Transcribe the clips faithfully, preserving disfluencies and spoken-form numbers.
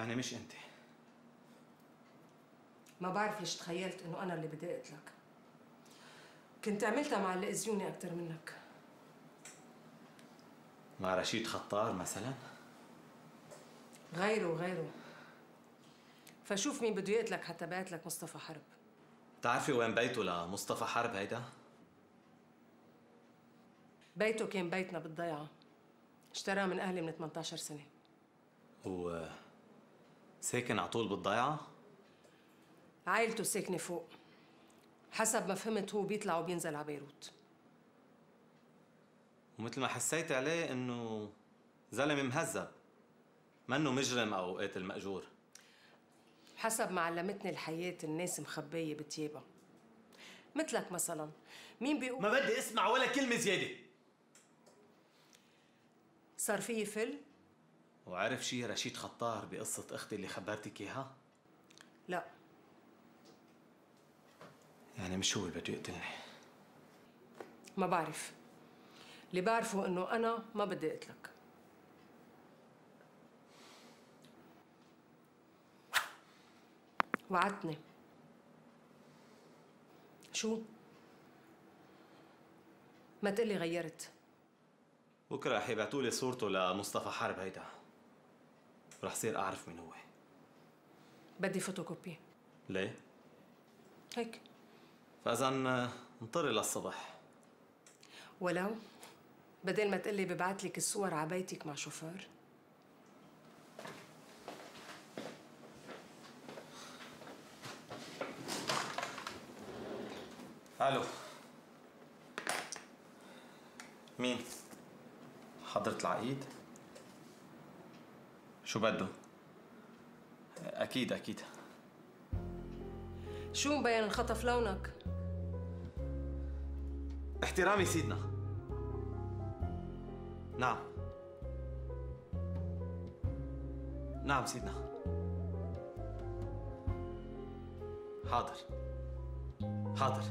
يعني مش انت؟ ما بعرف ليش تخيلت انه انا اللي بدي اقتلك. كنت عملتها مع اللي اذيوني اكثر منك. مع رشيد خطار مثلا؟ غيره وغيره. فشوف مين بده يقتلك حتى بعت لك مصطفى حرب. بتعرفي وين بيته لمصطفى حرب هيدا؟ بيته كان بيتنا بالضيعة. اشتراه من اهلي من ثمانية عشر سنة. هو ساكن على طول بالضيعة؟ عائلته ساكنة فوق. حسب ما فهمت هو بيطلع وبينزل على بيروت. ومثل ما حسيت عليه انه زلمه مهذب، منه مجرم او قاتل مأجور. حسب ما علمتني الحياة الناس مخبية بتيابها. مثلك مثلا، مين بيقول ما بدي اسمع ولا كلمة زيادة. صار فيي فل؟ وعرف شي رشيد خطار بقصة اختي اللي خبرتك اياها؟ لا. يعني مش هو اللي بده يقتلني؟ ما بعرف. اللي بعرفه انه انا ما بدي اقتلك. وعدتني. شو؟ ما تقلي غيرت. بكره رح يبعتوا لي صورته لمصطفى حرب هيدا، ورح صير اعرف مين هو. بدي فوتوكوبي. ليه؟ هيك. فاذا انطري للصبح. ولو بدل ما تقلي ببعت لك الصور على بيتك مع شوفير. الو، مين؟ حضرة العقيد؟ شو بده؟ اكيد اكيد. شو مبين انخطف لونك؟ احترامي سيدنا. نعم نعم سيدنا. حاضر حاضر.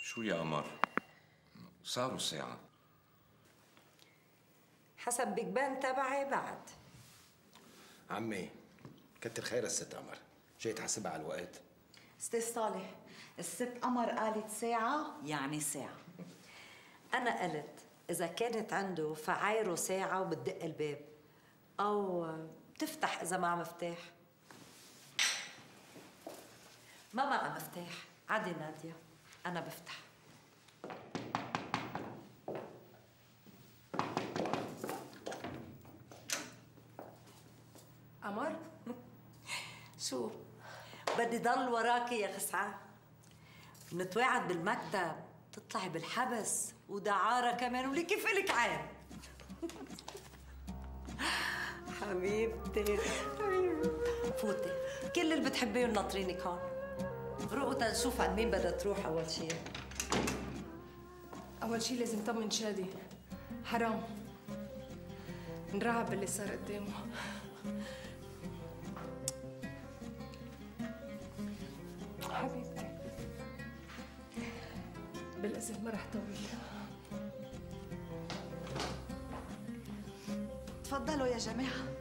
شو يا قمر؟ صاروا الساعة. حسب بيجبان تبعي بعد. عمي كتر خير الست قمر، جاي تحاسبها على الوقت. استاذ صالح، الست قمر قالت ساعة يعني ساعة. أنا قلت إذا كانت عنده فعايره ساعة وبتدق الباب، أو بتفتح إذا معها مفتاح. ما معها مفتاح، عادي نادية، أنا بفتح. قمر؟ شو؟ بدي ضل وراكي يا خسعان. بنتواعد بالمكتب، تطلعي بالحبس ودعارة كمان، ولي كيف إلك عين. حبيبتي فوتي، كل اللي بتحبيهم ناطرينك هون. روقوا تنشوف عند مين بدها تروح أول شيء. أول شيء لازم طمن شادي. حرام انرعب باللي صار قدامه. حبيبتي بالإذن ما رح طول. تفضلوا يا جماعة.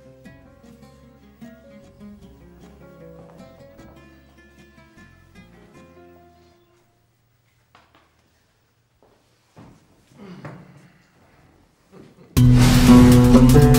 Thank you.